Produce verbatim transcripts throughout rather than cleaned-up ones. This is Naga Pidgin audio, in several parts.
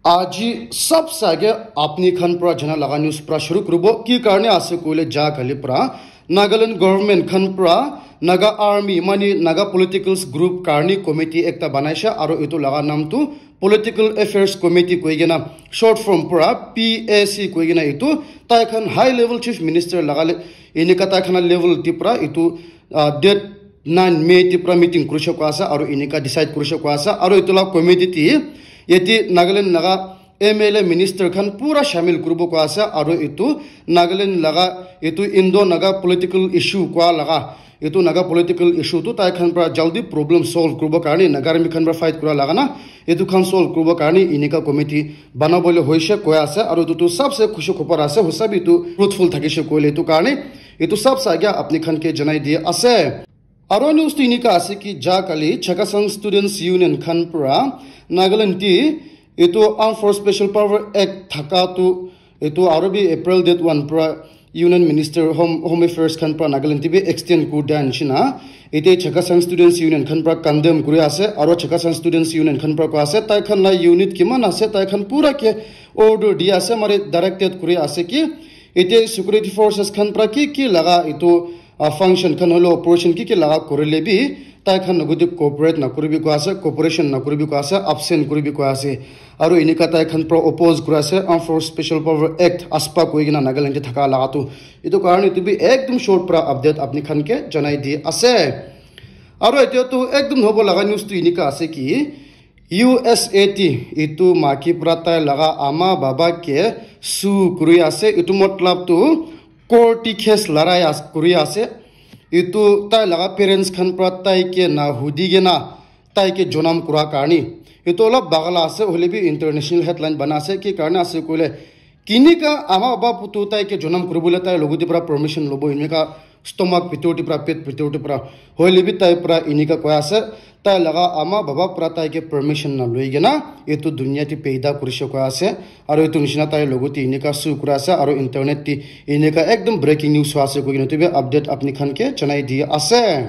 Aji sabse age apni khan pra jana laga news pra shuru kuribo. Ki karne ase koile, ja kali pra Nagaland government khan pra Naga army, mane Naga politicals group karne committee ekta banaishe, aro etu laga naam tu Political Affairs Committee koi kena, short form pra P A C koi kena, etu tai khan high level chief minister laga le, enika tai khan level te pra etu, ah, date nine May te pra meeting kurishe koi ase, aro enika decide kurishe koi ase, aro etu la committee te yate Nagaland laga M L A minister khan pura shamil kuribo koi ase, aro etu Nagaland laga etu Indo Naga political issue koi laga, etu Naga political issue tu tai khan pra jaldi problem solve kuribo karne, Naga army khan pra fight kura laga na, etu khan solve kuribo karne enika committee banabole hoishe koi ase, aro etu tu sabse khushi khobor ase, hosa bi etu fruitful thakishe koile etu karne, etu sabse age apni khan ke janai di ase. Aro news tu enika ase ki ja kali Chakhesang Students Union khan pra Nagaland te etu Armed Force Special Power Act thaka tu etu aro bi April date one pra Union Minister Home, Home Affairs khan pra Nagaland te bi extend kuri dia nishina. Ete Chakhesang Students Union khan pra condemn kuri ase, aro Chakhesang Students Union khan pra koi ase, tai khan la unit kiman ase, tai khan pura ke order di ase, mare directed kuri ase ki ete security forces khan pra ki ki laga etu, ah, function khan holo operation ki ki laga korile bi tai khan logoti cooperate na kuribi koi ase, cooperation na kuribi koi ase, absent kuribi koi ase. Aro enika tai khan pra oppose kuri ase Armed Force Special Power Act, AFSPA koi kena Nagaland te thaka laga tu. Etu karne etu bi ekdom short pra update apni khan ke janai di ase. Aro etia tu ekdom hobo laga news tu enika ase ki U S A te etu maki pra tai laga ama baba ke sue kuri ase. Etu matlab tu court te case larai as-, kuri ase. Etu tai laga parents khan pra tai ke na hudi kena tai ke jonam kura karne. Etu olop bagala ase, hoile bi international headline bana ase. Ki karne ase koile, kinika ama baba putu tai ke jonam kuribole tai logoti pra permission lobo, enika stomach bitor te pra, pet bitor te pra. Hoile bi tai pra enika koi ase, tai laga ama baba pra tai ke permission na loi kena etu dunia te paida kurishe koi ase. Aro etu nishina tai logoti enika sue kura ase, aro internet te enika ekdom breaking news hoi ase koi kena etu bi update apni khan ke janai di ase.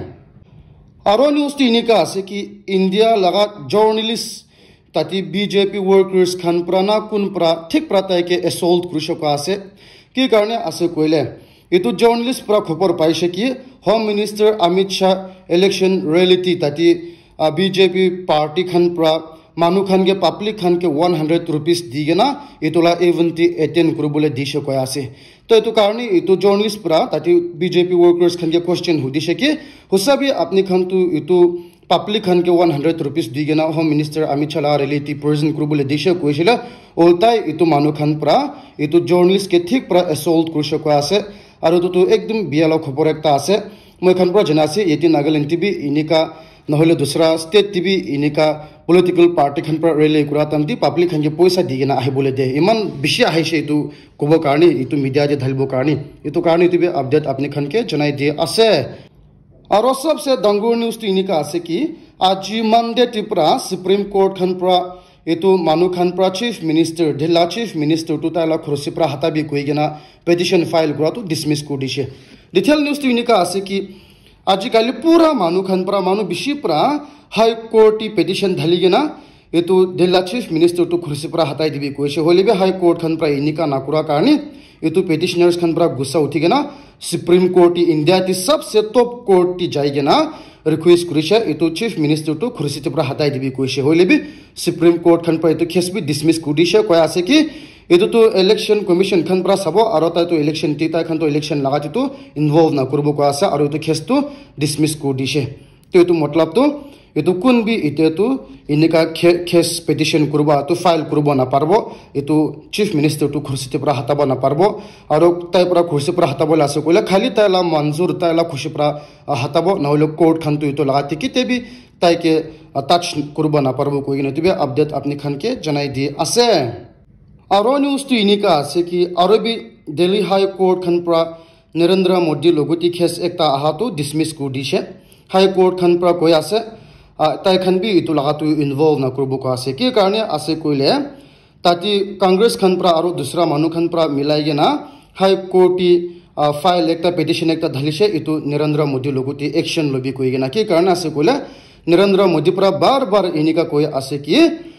Aro news tu enika ase ki India laga journalist tate B J P workers khan pra na kun pra thik pra tai ke assault kurishe koi ase. Ki karne ase koile, etu journalist pra khobor paishe ki Home Minister Amit Shah election rally te tate, ah, B J P party khan pra manu khan ke, public khan ke one hundred rupees di kena etu la event te attend kuribole dishe koi ase. To etu karne etu journalist pra tate B J P workers khan ke question hudishe ki, hosa bi apni khan tu etu public khan ke one hundred rupees di kena Home Minister Amit Shah la rally te present kuribole dishe koishe le, ultai etu manu khan pra etu journalist ke thik pra assault kurishe koi ase. Aro etu tu ekdom bia la khobor ekta ase. Moi khan pra jana ase, yate Nagaland te bi enika, nahole dusra state te bi enika political party khan pra rally kura time te public khan ke poisa di kena ahibole de. Iman bishi ahishe etu kobo karne, etu media te dhalibo karne. Etu karne etu bi update apni khan ke janai di ase. Aro sabse dangor news tu enika ase ki, aji Monday te pra Supreme Court khan pra etu manu khan pra Chief Minister, Delhi la Chief Minister tu tai la khursi pra hata bi koi kena petition file kura tu dismiss kuri dishe. Detail news tu enika ase ki, aji kali pura manu khan pra, manu bishi pra High Court te petition dhali kena etu Delhi la Chief Minister tu khursi pra hatai dibi koishe. Hoile bi High Court khan pra enika na kura karne etu petitioners khan pra gussa uthi kena Supreme Court te, India te sabse top court te jai kena request kurishe, etu Chief Minister tu khursi te pra hatai dibi koishe. Hoile bi Supreme Court khan pra etu case bi dismiss kuri dishe, koi ase ki etu tu Election Commission khan pra sabo, aro tai tu election te, tai khan tu election laga te tu involve na kuribo koi ase, aro etu case tu dismiss kuri dishe. To etu matlab tu, etu kun bi etia tu enika ca-, case petition kuribo, tu file kuribo na paribo, etu Chief Minister tu khursi te pra hatabo na paribo, aro tai pra khursi pra hatabo la ase koile khali tai la manzur, tai la khushi pra, ah, hatabo, nahole court khan tu etu laga te kete bi tai ke, ah, touch kuribo na paribo koi kena etu bi update apni khan ke janai di ase. Aro news tu enika ase ki, aro bi Delhi High Court khan pra Narendra Modi logoti case ekta aha tu dismiss kuri dishe. High Court khan pra koi ase, ah, tai khan bi etu laga tu involve na kuribo koi ase. Ki karne ase koile, tate Congress khan pra aro dusra manu khan pra milai kena High Court te, ah, file ekta, petition ekta dhalishe, etu Narendra Modi logoti action lobi koi kena. Ki karne ase koile, Narendra Modi pra bar bar enika koi ase ki,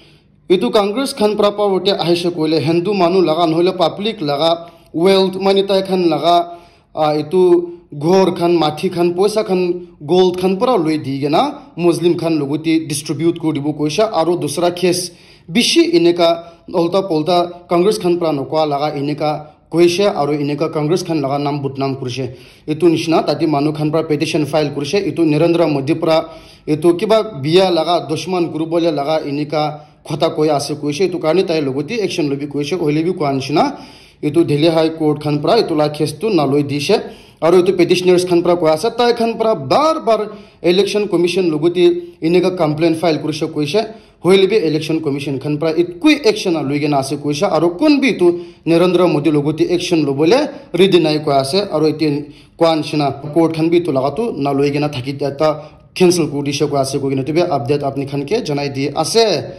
Etu Congress khan pra power te ahise koile Hindu manu laga nohole public laga wealth mane tai khan laga ah, etu ghor khan, mati khan, poisa khan, gold khan pura loi di kena Muslim khan logote distribute kuri dibo koisha, aro dusra case bishi eneka ulta pulta Congress khan pra nokwa laga eneka koisha, aro eneka Congress khan laga nam budnam kurishe. Etu nishina tate manu khan pra petition file kurishe, etu Narendra Modi pra etu kiba biya laga dushman kuribole laga eneka khota koi ase koishe, etu karne tai logote action lobi koishe, hoile bi koa nishina etu Delhi High Court khan pra etu la case tu naloi dishe. Aro etu petitioners khan pra koa ase, tai khan pra bar bar Election Commission logote eneka complaint file kurishe koishe, hoile bi Election Commission khan pra ekoi action naloi kena ase koishe, aro kun bi etu Narendra Modi logote action lobole ready nai koa ase, aro etu koa nishina court khan bi etu laga tu naloi kena thaki ta cancel kuri dishe koa ase koikena etu bi update apni khan ke janai di ase.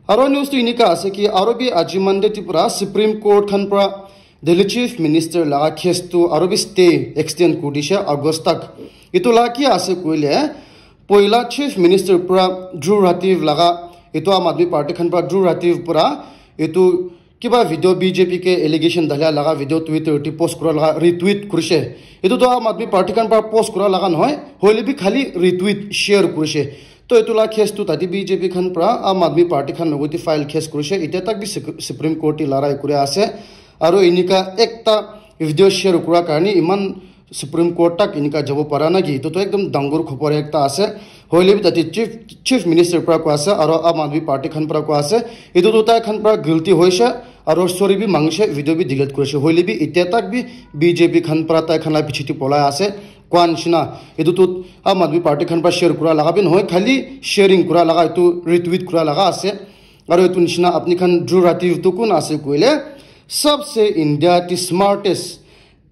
Aro news tu enika ase ki aro bi aji Monday te pra Supreme Court khan pra Delhi Chief Minister laga case tu aro bi stay extend kuri dishe August tak. Etu la ki ase koile poila Chief Minister pra Dhruv Rathi laga etu Aam Aadmi Party khan pra Dhruv Rathi pra etu kiba video B J P ke allegation dalia laga video Twitter te post kura laga retweet kurishe. Etu tu Aam Aadmi Party khan pra post kura laga nohoi, hoile bi khali retweet share kurishe. To etu la case tu tate B J P khan pra Aam Aadmi Party khan logote file case kurishe. Etia tak bi Sup- Supreme Court te larai kuri ase. Aro enika ekta video share kura karne iman Supreme Court tak enika jabo para na ki? Etu to ekdom dangor khobor ekta ase. Hoile bi tate Chief, Chief Minister pra koa ase, aro Aam Aadmi Party khan pra koa ase. Etu tu tai khan pra guilty hoishe, aro sorry bi mangishe, video bi delete kurishe. Hoile bi etia tak bi B J P khan pra tai khan la piche te polai ase. Koa nishina, etu tu Aam Aadmi Party khan pra share kura laga bi nohoi, khali sharing kura laga, etu retweet kura laga ase. Aro etu nishina apni khan Dhruv Rathi tu kun ase koile, sabse India te smartest,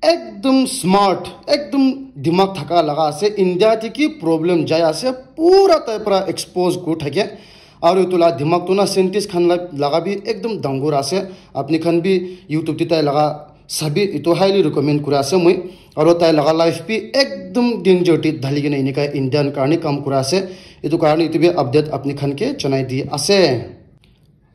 ekdom smart, ekdom dimag thaka laga ase. India te ki problem jai ase, pura tai pra expose kuri thake. Aro etu la dimag tu na scientist khan la, laga bi ekdom dangor ase. Apni khan bi YouTube te tai laga sabi, etu highly recommend kura ase moi. Aro tai laga life bi ekdom danger te dhali kena enika Indian karne kam kura ase. Etu karne etu bi update apni khan ke janai di ase.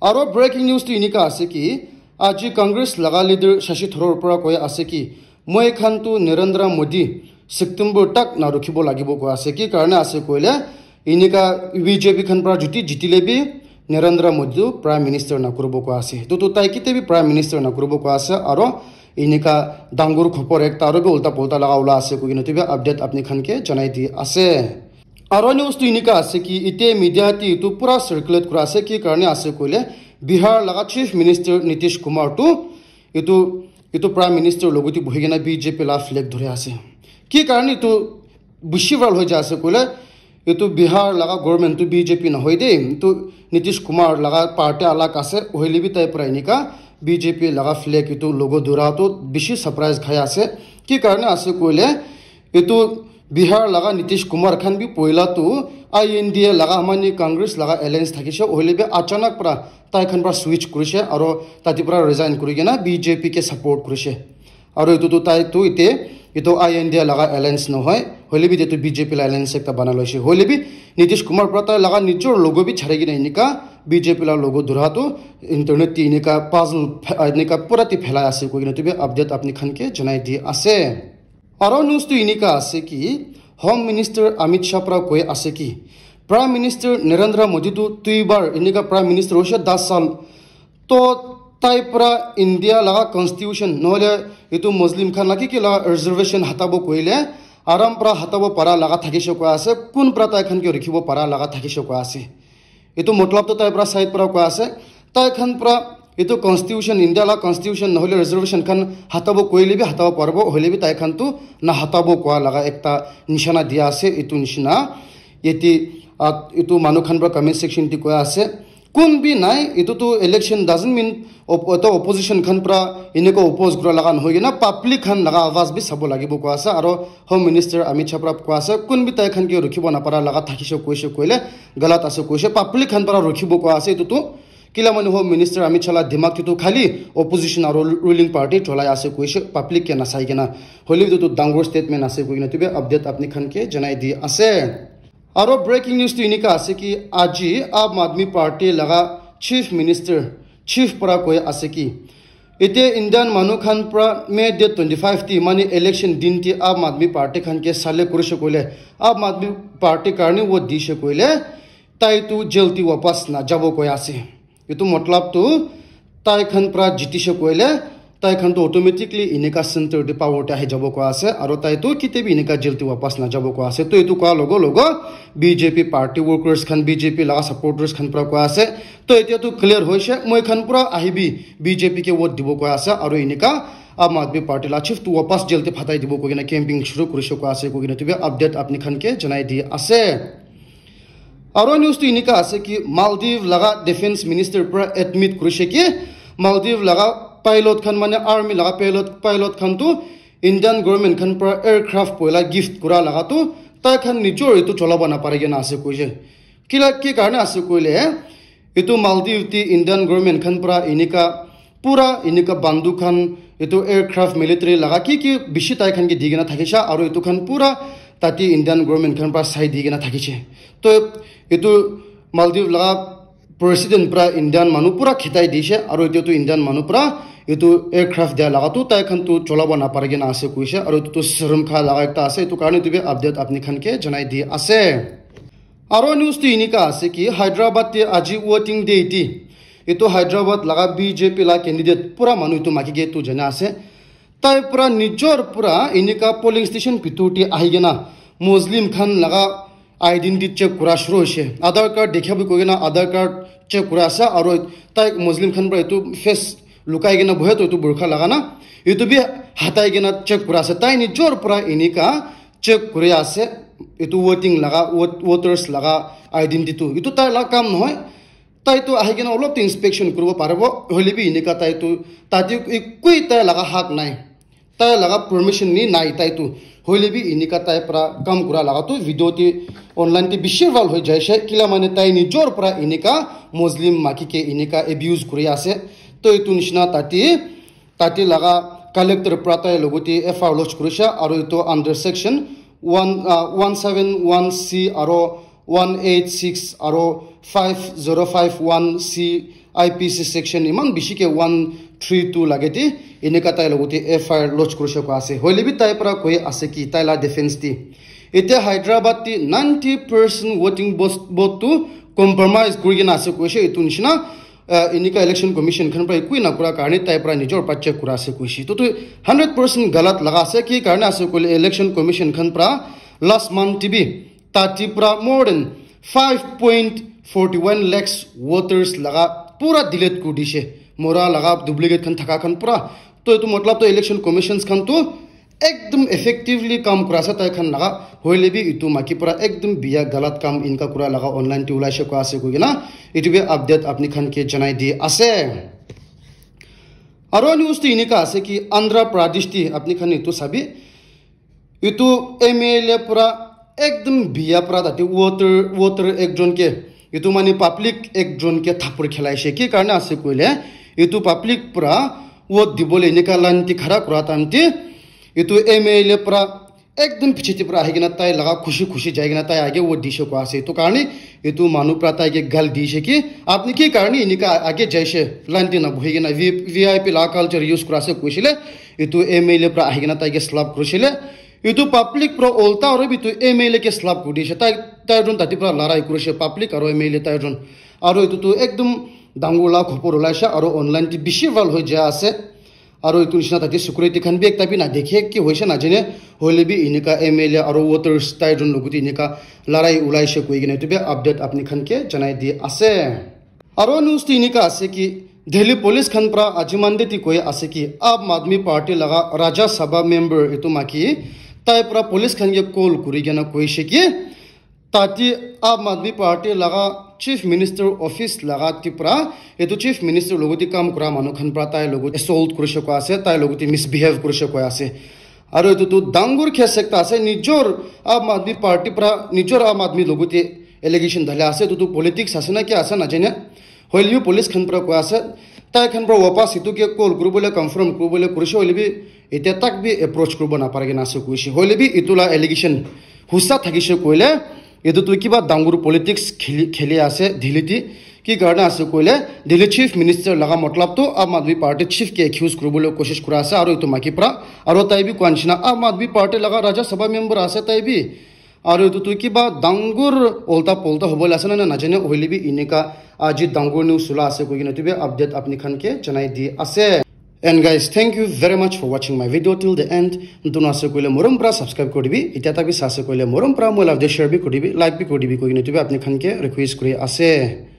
Aro breaking news tu enika ase ki, aji Congress laga leader Shashi Tharoor pra koi ase ki, moi khan tu Narendra Modi September tak na rukhibo lagibo koi ase. Ki karne ase koile, enika B J P khan pra juti jitile bi Narendra Modi tu Prime Minister na kuribo koi ase. Tu tu tai kite bi Prime Minister na kuribo koi ase. Aro enika dangor khobor ekta aro bi ulta pulta laga ula ase koikena tu bi update apni khan ke janai di ase. Aro news tu enika ase ki, ite media te etu pura circulate kura ase, ki karne ase koile, Bihar laga Chief Minister Nitish Kumar tu etu, etu Prime Minister logote buhi kena B J P la flag dhori ase. Ki karne etu bishi viral hoi ja ase koile, etu Bihar laga government tu B J P nohoi de, etu Nitish Kumar laga party alag ase, hoile bi tai pura enika B J P laga flag etu logo dhora tu bishi surprise khai ase. Ki karne ase koile, etu Bihar laga Nitish Kumar khan bi poila tu I N D A laga mane Congress laga alliance thakishe, hoile bi achanak pra tai khan pra switch kurishe aro tate pra resign kuri kena B J P ke support kurishe. Aro etu tu tai tu ite etu I N D A laga alliance nohoi, hoile bi etu B J P la alliance ekta bana loishe. Hoile bi Nitish Kumar pra tai laga nijor logo bi chari kena enika B J P la logo dhora tu internet te enika puzzle phe- enika pura te phelai ase koikena tu bi update apni khan ke janai di ase. Aro news tu enika ase ki, Home Minister Amit Shah pra koi ase ki, Prime Minister Narendra Modi tu duibar enika Prime Minister hoishe das sal. To tai pra India laga constitution nohole etu Muslim khan la ki ki la reservation hatabo koile, aram pra hatabo para laga thakishe koi ase, kun pra tai khan ke rukhibo para laga thakishe koi ase. Etu matlab tu tai pra side pra koi ase, tai khan pra etu constitution, India la constitution nohole reservation khan hatabo koile bi hatabo paribo, hoile bi tai khan tu na hatabo koi laga ekta nishana dia ase. Etu nishina yate, ah, etu manu khan pra comment section te koi ase, kun bi nai, etu tu election doesn't mean op- etu opposition khan pra eneka oppose kura laga nohoi kena public khan laga awaz bi sabo lagibo koi ase. Aro Home Minister Amit Shah pra koi ase, kun bi tai khan ke rukhibo napara laga thakishe koishe koile, galat ase koishe, public khan para rukhibo koi ase etu tu. Kila manu Home Minister Amit Shah la dimag te tu khali opposition aro ruling party cholai ase koishe, public ke nasai kena. Hoile etu tu dangor statement ase koikena tu bi update apni khan ke janai di ase. Aro breaking news tu enika ase ki aji Aam Aadmi Party laga Chief Minister, Chief para koi ase ki, ete Indian manu khan para May date twenty five te mane election din te Aam Aadmi Party khan ke sale kurishe koile, Aam Aadmi Party karne vote dishe koile, tai tu jail te wapas na jabo koi ase. Etu matlab tu tai khan para jitishe koile, tai khan tu automatically enika center te power te ahi jabo koi ase, aro tai tu kite bi enika jail te wapas na jabo koi ase. To etu koa logo logo B J P party workers khan, B J P laga supporters khan para koi ase. To etia tu clear hoise, moi khan pura ahibi B J P ke vote dibo koi ase, aro enika Aam Aadmi Party la chief tu wapas jail te phatai dibo koi kena campaign shuru kurishe koi ase koi kena tu bi update apni khan ke janai di ase. Aro news tu enika ase ki Maldives laga defense minister pura admit kurishe ki Maldives laga pilot khan mane army laga pilot, pilot khan tu Indian government khan pura aircraft poila gift kura laga tu tai khan nijor etu cholabo napare kena ase koishe. Kila ki karne ase koile, etu Maldives te Indian government khan pura enika, pura enika bandu khan, etu aircraft military laga ki ki bishi tai khan ke di kena thakisha, aro etu khan pura tate Indian government khan pura sai di kena thakishe. To etu Maldives laga president pura Indian manu pura khitai dishe, aro etu tu Indian manu pura etu aircraft dia laga tu tai khan tu cholabo napare kena ase koishe, aro etu tu serum kha laga ekta ase, etu karne tu bi update apni khan ke janai di ase. Aro news tu enika ase ki Hyderabad te aji voting day te etu Hyderabad laga B J P la candidate pura manu etu maki ke tu jana ase. Tai pura nijor pura enika polling station bitor te ahi kena Muslim khan laga identity check kura shuru hoishe. Aadhaar card dekha bi koi kena Aadhaar card check kura ase, aro tai Muslim khan pura etu face lukai kena bohe to etu burqa laga na, etu bi hatai kena check kura ase. Tai nijor pura enika check kuri ase, etu voting laga, vot-, voters laga identity tu. Etu tai la kam nohoi. Tai tu ahi kena olop tu inspection kuribo paribo, hoile bi enika tai tu, tate ekoi tai laga hak nai. Tai laga permission ni nai tai tu. Hoile bi enika tai pura kam kura laga tu video te online te bishi viral hoi jaishe. Kila mane tai nijor pura enika Muslim maki ke enika abuse kuri ase. To etu nishina tate Tate laga collector pra tai logote F I R lodge kurishe, aro etu under section one, uh, one seven one C aro one eight six aro five zero five one C I P C section iman bishi ke one three two lage te eneka tai logote F I R lodge kurishe koi ase. Hoile bi tai pra koi ase ki tai la defense te, ete Hyderabad te ninety percent voting vote, vote tu compromise kuri kena ase koishe, etu nishina uh, enika election commission khan pra ekoi na kura karne tai pra nijor pra check kura ase koishe. To, to hundred percent galat laga ase, ki karne ase koile election commission khan pra last month te bi tate pra more than five point forty one lakhs voters laga pura delete kuri dishe. Mora laga duplicate khan thaka khan pura. To etu matlab to election commissions khan to ekdum effectively kam kura ase tai khan laga, hoile bi etu maki pra ekdum biya galat kam eneka kura laga online te ulaishe koi ase koi kena etu bi update apni khan ke janai di ase. Aro news tu eneka ase ki Andhra Pradesh te apni khan etu sabi, etu M L A pra ekdum biya pra tate voter, voter ekjon ke, etu mane public ekjon ke thapur khilaishe. Ki karne ase koile, etu public pra vote dibole eneka line te khara kura time te, etu M L A pra ekdum piche te pra ahi kena tai laga khushi khushi jai kena tai age vote dishe koi ase. Etu karne etu manu pra tai ke gal dishe ki, apni ki karne eneka age jaishe, line te na bohi kena V-, V I P laga culture use kura ase koishe le, etu M L A pra ahi kena tai ke slap kurishe le, etu public pra ulta aru bi etu M L A ke slap kuri dishe. Tai, tai jon tate pra larai kurishe, public aru M L A tai jon. Aru etu tu ekdum dangor la khopor ulaishe aru online te bishi viral hoi jai ase. Aru etu nishina tate security khan bi ekta bi na dekhe, ki hoishe na jane, hoile bi eneka M L A aru voters tai jon logote eneka larai ulaishe koi kena etu bi update apni khan ke janai di ase. Aro news tu eneka ase ki Delhi police khan pra aji Monday te koi ase ki Aam Aadmi Party laga Rajya Sabha member etu maki tai pra police khan ke call kuri kena koishe ki tate Aam Aadmi Party laga Chief Minister office laga te pra etu Chief Minister logote kam kura manu khan pra tai logot assault kurishe koi ase, tai logote misbehave kurishe koi ase. Aru etu tu dangor case ekta ase, nijor Aam Aadmi Party pra nijor Aam Aadmi logote allegation dali ase, etu tu politics ase na ki ase na jane. Hoile bi police khan pra koi ase, tai khan pra wapas etu ke call kuribole, confirm kuribole kurishe, hoile bi etia tak bi approach kuribo napare kena ase koishe. Hoile bi etu la allegation husa thakishe koile, etu tu kiba dangor politics kheli, kheli ase Delhi te. Ki karne ase koile, Delhi chief minister laga matlab to Aam Aadmi Party chief ke accuse kuribole koshish kura ase, aru etu maiki para, aru tai bi koa nishina Aam Aadmi Party laga Rajya Sabha member ase tai bi. Aru etu tu kiba dangor olta polta hobole ase na najane, hoile bi enika aji dangor news ula ase koikena etu bi update apni khan ke janai di ase. And guys, thank you very much for watching my video till the end. Notun ase koile morom para subscribe kuri dibi, itya tak bi sa ase koile morom para moi la video share bi kuri dibi, like bi kuri dibi koikena etu bi apni khan ke request kuri ase.